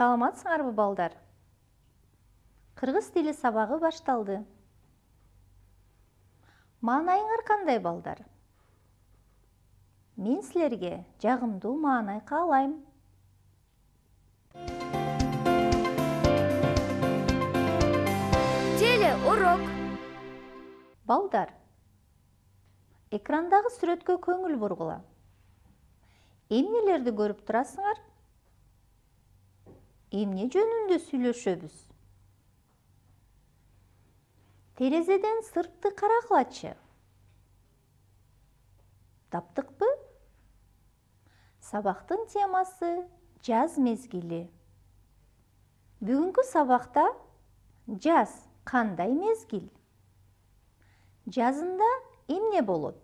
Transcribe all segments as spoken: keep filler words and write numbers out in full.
Саламатсыңарбы балдар? Кыргыз тили сабагы башталды. Маанайыңар кандай балдар? Мен силерге жагымдуу маанай каалайм. Телеурок. Балдар, экрандагы сүрөткө көңүл бургула. Эмнелерди көрүп турасыңар? Эмне жөнүндө сүйлөшөбүз? Терезеден сыртты карагылачы. Таптыкпы? Сабактын темасы жаз мезгили. Бүгүнкү сабакта жаз кандай мезгил? Жазында эмне болот?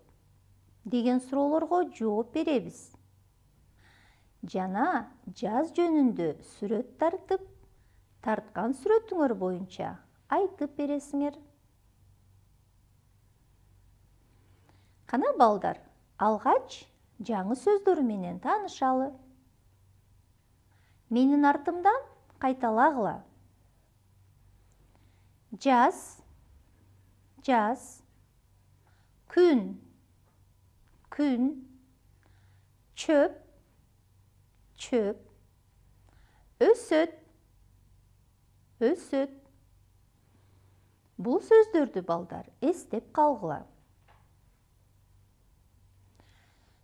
Деген суроолорго жооп беребиз. Жана жаз жөнүндө сүрөт тартып, тарткан сүрөтүңөр боюнча айтып бересиңер. Кана балдар, алгач жаңы сөздөр менен таанышалы. Менин артымдан кайталагыла. Жаз, жаз, күн, күн, чөп, чөп, өсөт, өсөт. Бул сөздөрдү балдар эстеп калгыла.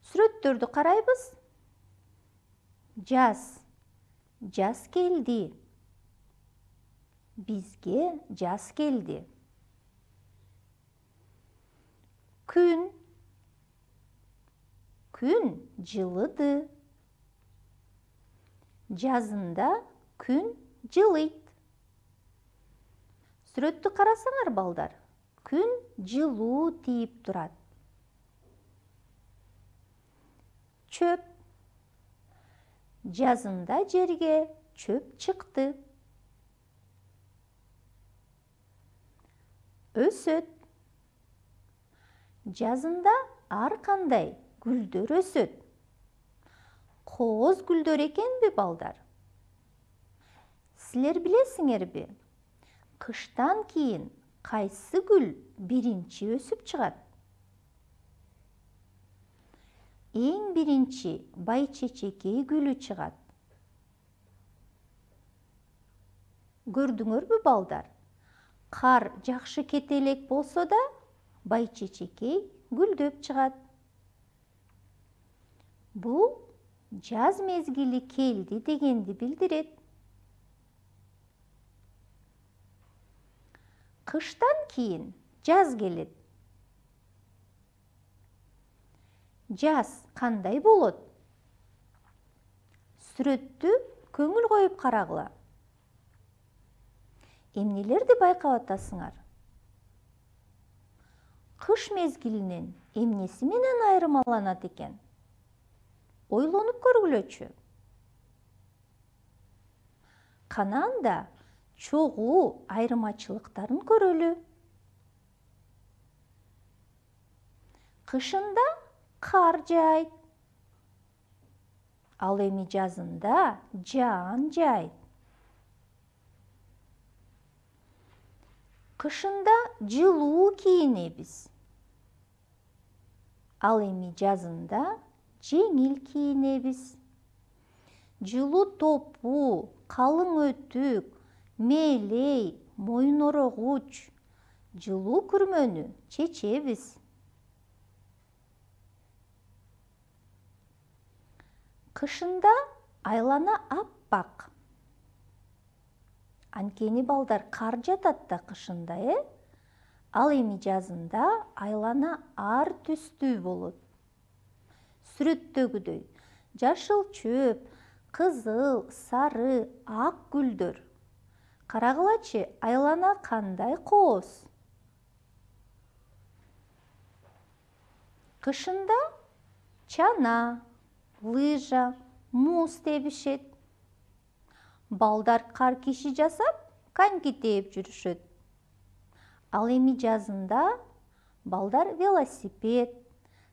Сүрөттөрдү карайбыз. Жаз, жаз келди. Бизге жаз келди. Күн, күн жылыды. Жазында күн жылыйт. Сүрөттү карасаңар балдар, күн жылуу тийип турат. Чөп. Жазында жерге чөп чыкты. Өсөт. Жазында ар кандай гүлдөр өсөт. Кооз гүлдөр экенби балдар? Силер билесиңерби? Кыштан кийин кайсы гүл биринчи өсүп чыгат? Эң биринчи байчечекей гүлү чыгат. Көрдүңөрбү балдар? Кар жакшы кете элек болсо да, байчечекей гүлдөп чыгат. Бул жаз мезгили келди дегенди билдирет. Кыштан кийин жаз келет. Жаз кандай болот? Сүрөттү көңүл коюп карагыла. Эмнелерди байкап атасыңар? Кыш мезгилинен эмнеси менен айырмаланат экен? Ойлонуп көргүлөчү. Кана анда чогуу айырмачылыктарын көрөлү. Кышында кар жаайт. Ал эми жазында жаан жаайт. Кышында жылуу кийинебиз. Ал эми жазында жеңил кийинебиз. Жылуу топу, калың өтүк, мээлей, мойун орогуч, жылуу күрмөнү чечебиз. Кышында айлана аппак. Анткени балдар кар жатат да кышында, э? Ал эми жазында айлана ар түстүү болот. Сүрөттөгүдөй жашыл чөп, кызыл, сары, ак гүлдөр. Карагылачы, айлана кандай кооз. Кышында чана, лыжа, муз тебишет. Балдар кар киши жасап, коньки тээп жүрүшөт. Ал эми жазында балдар велосипед,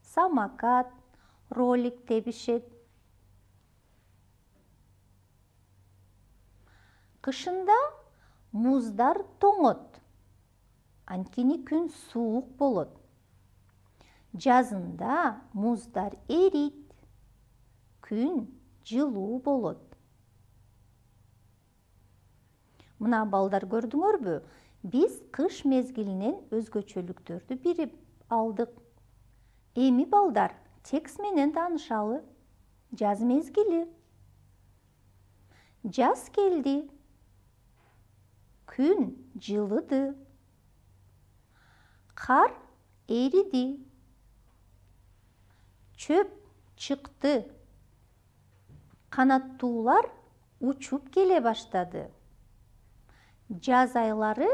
самокат, ролик тебишет. Кышында муздар тоңот, анткени күн суук болот. Жазында муздар эрийт, күн жылуу болот. Мына балдар, көрдүңөрбү? Биз кыш мезгилинен өзгөчөлүктөрдү билип алдык. Эми балдар, текст менен таанышалы. Жаз мезгили. Жаз келди. Күн жылыды. Кар эриди. Чөп чыкты. Канаттуулар учуп келе баштады. Жаз айлары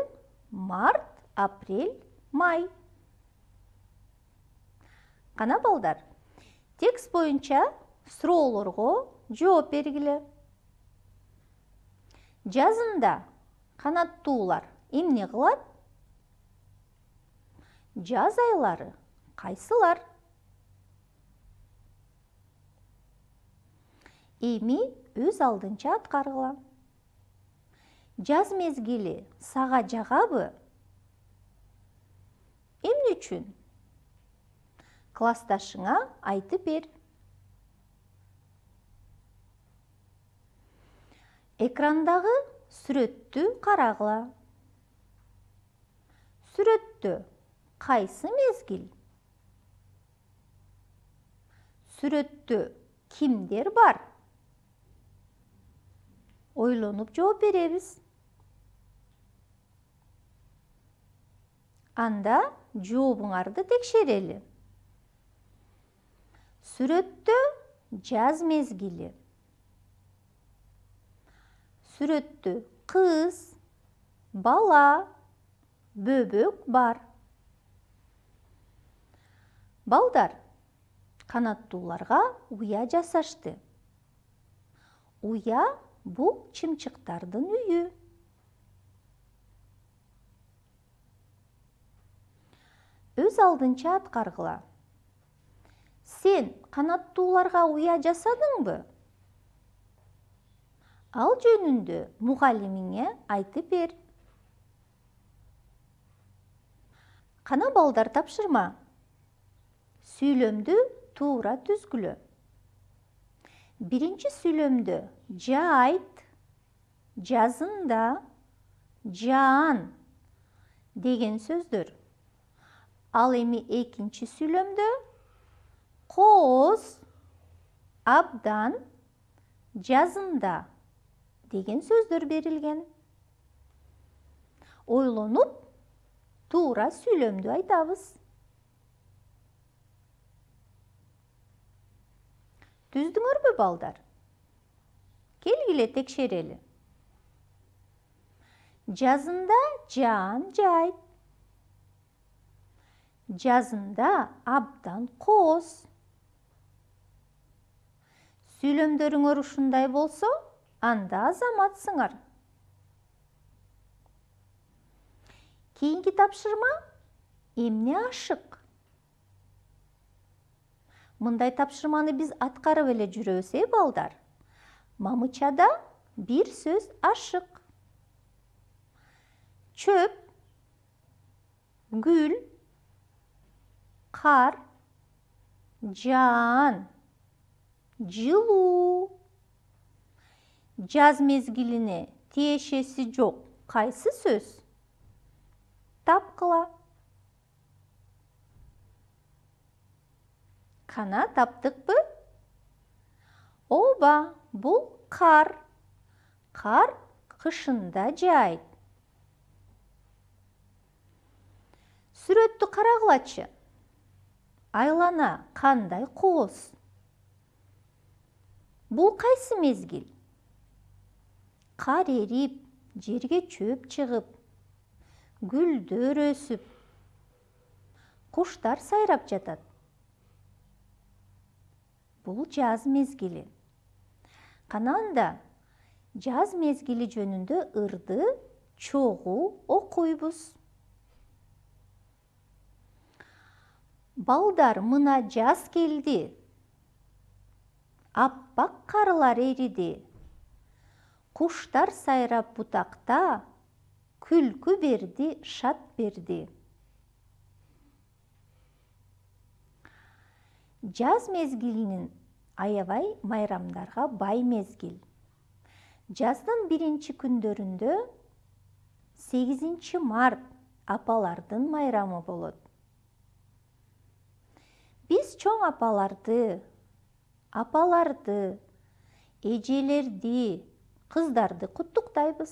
март, апрель, май. Кана балдар, текст боюнча суроолорго жооп бергиле. Жазында канаттуулар эмне кылат? Жаз айлары кайсылар? Эми өз алдынча аткаргыла. Жаз мезгили сага жагабы? Эмне үчүн? Классташыңа айтып бер. Экрандагы сүрөттү карагыла. Сүрөттө кайсы мезгил? Сүрөттө кимдер бар? Ойлонуп жооп беребиз. Анда жообуңарды текшерели. Сүрөттө жаз мезгили. Сүрөттө кыз, бала, бөбөк бар. Балдар, канаттууларга уя жасашты. Уя бул чымчыктардын үйү. Өз алдынча аткаргыла. Сен канаттууларга уя жасадыңбы? Ал жөнүндө мугалимиңе айтып бер. Кана балдар, тапшырма. Сүйлөмдү туура түзгүлө. Биринчи сүйлөмдө жайт, жазында, жаан деген сөздөр. Ал эми экинчи сүйлөмдө кооз, абдан, жазында деген сөздөр берилген. Ойлонуп, туура сүйлөмдү айтабыз. Түздүңөрбү балдар? Келгиле текшерели. Жазында жаан жайт. Жазында абдан кооз. Сүйлөмдөрүңөр ушундай болсо, анда азаматсыңар. Кийинки тапшырма эмне ашык? Мындай тапшырманы биз аткарып эле жүрөбүз, э балдар? Мамычада бир сөз ашык. Чөп, гүл, кар, жаан, жылуу. Жаз мезгилине тиешеси жок кайсы сөз? Тапкыла. Кана, таптыкпы? Ооба, бул кар. Кар кышында жаайт. Сүрөттү карагылачы. Айлана кандай кооз? Бул кайсы мезгил? Кар эрип, жерге чөп чыгып, гүлдөр өсүп, куштар сайрап жатат. Бул жаз мезгили. Кана анда жаз мезгили жөнүндө ырды чогуу окуйбуз. Балдар, мына жаз келди. Аппак карлар эриди. Куштар сайрап бутакта, күлкү берди, шат берди. Жаз мезгилинин аябай майрамдарга бай мезгил. Жаздын биринчи күндөрүндө сегизинчи март апалардын майрамы болот. Биз чоң апаларды, апаларды, эжелерди, кыздарды куттуктайбыз.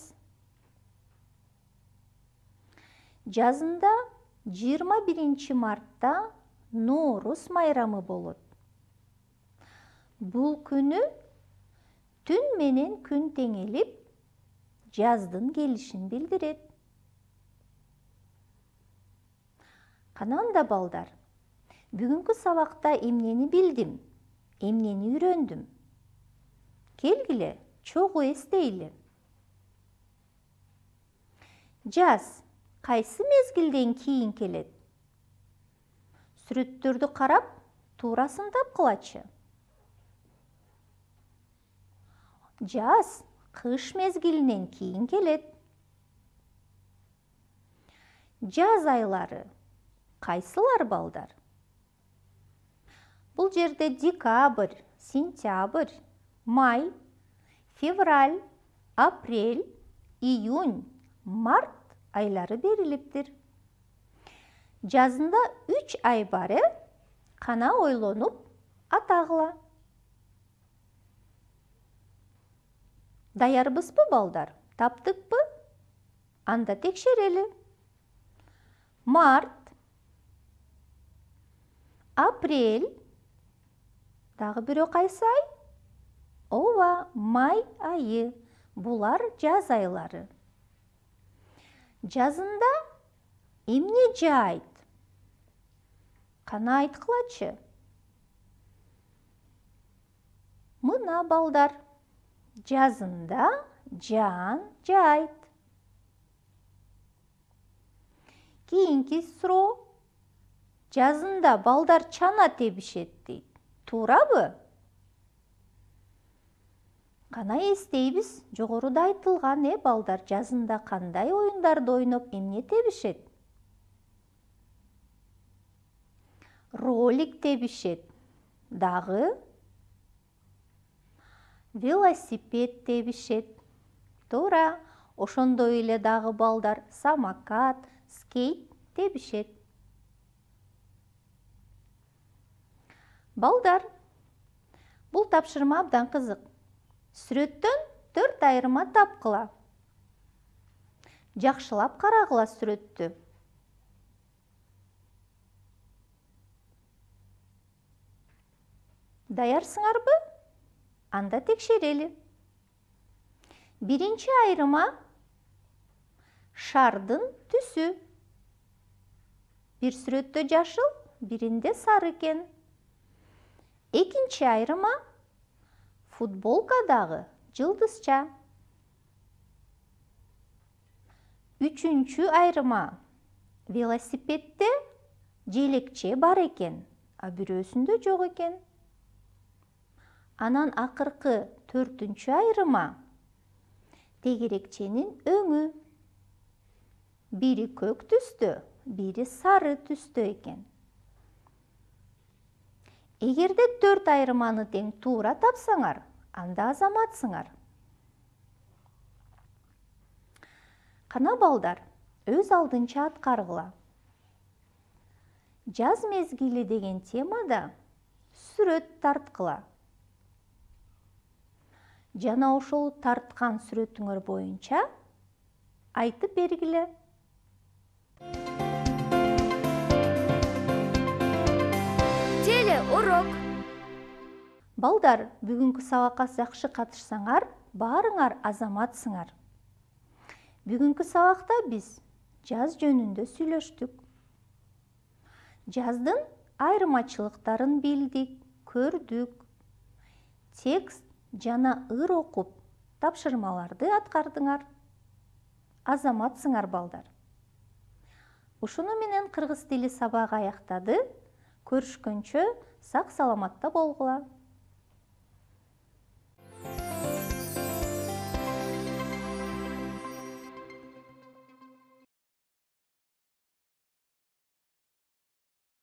Жазында жыйырма биринчи мартта Ноорус майрамы болот. Бул күнү түн менен күн теңелип, жаздын келишин билдирет. Кананда балдар, бүгүнкү сабакта эмнени билдим, эмнени үйрөндүм? Келгиле, чогуу эстейли. Жаз кайсы мезгилден кийин келет? Сүрөттөрдү карап, туурасын тапкылачы. Жаз кыш мезгилинен кийин келет. Жаз айлары кайсылар балдар? Бул жерде декабрь, сентябрь, май, февраль, апрель, июнь, март айлары берилиптир. Жазында үч ай бар, э? Кана ойлонуп атагыла. Даярбызбы балдар? Таптыкпы? Анда текшерели. Март, апрель, дагы бирөө кайсы ай? Ооба, май айы. Булар жаз айлары. Жазында эмне жаайт? Кана айткылачы. Мына балдар, жазында жаан жаайт. Кийинки суроо. Жазында балдар чана тебишет дейт. Туурабы? Кана эстейбиз, жогоруда айтылган, э балдар, жазында кандай оюндарды ойноп, эмне тебишет? Ролик тебишет. Дагы велосипед тебишет. Туура. Ошондой эле дагы балдар самокат, скейт тебишет. Балдар, бул тапшырма абдан кызык. Сүрөттөн төрт айырма тапкыла. Жакшылап карагыла сүрөттү. Даярсыңарбы? Анда текшерели. Биринчи айырма шардын түсү. Бир сүрөттө жашыл, биринде сары экен. Экинчи айырма футболкадагы жылдызча. Үчүнчү айырма велосипедде желекче бар экен, а бирөөсүндө жок экен. Анан акыркы төртүнчү айырма тегерекченин өңү. Бири көк түстө, бири сары түстө экен. Эгерде төрт айырманы тең туура тапсаңар, анда азаматсыңар. Кана балдар, өз алдынча аткаргыла. Жаз мезгили деген темада сүрөт тарткыла. Жана ошол тарткан сүрөтүңөр боюнча айтып бергиле. Телеурок. Балдар, бүгүнкү сабакка жакшы катышсаңар, баарыңар азаматсыңар. Бүгүнкү сабакта биз жаз жөнүндө сүйлөштүк. Жаздын айырмачылыктарын билдик, көрдүк. Текст жана ыр окуп, тапшырмаларды аткардыңар. Азаматсыңар балдар. Ушуну менен кыргыз тили сабагы аяктады. Көрүшкөнчө сак саламатта болгула.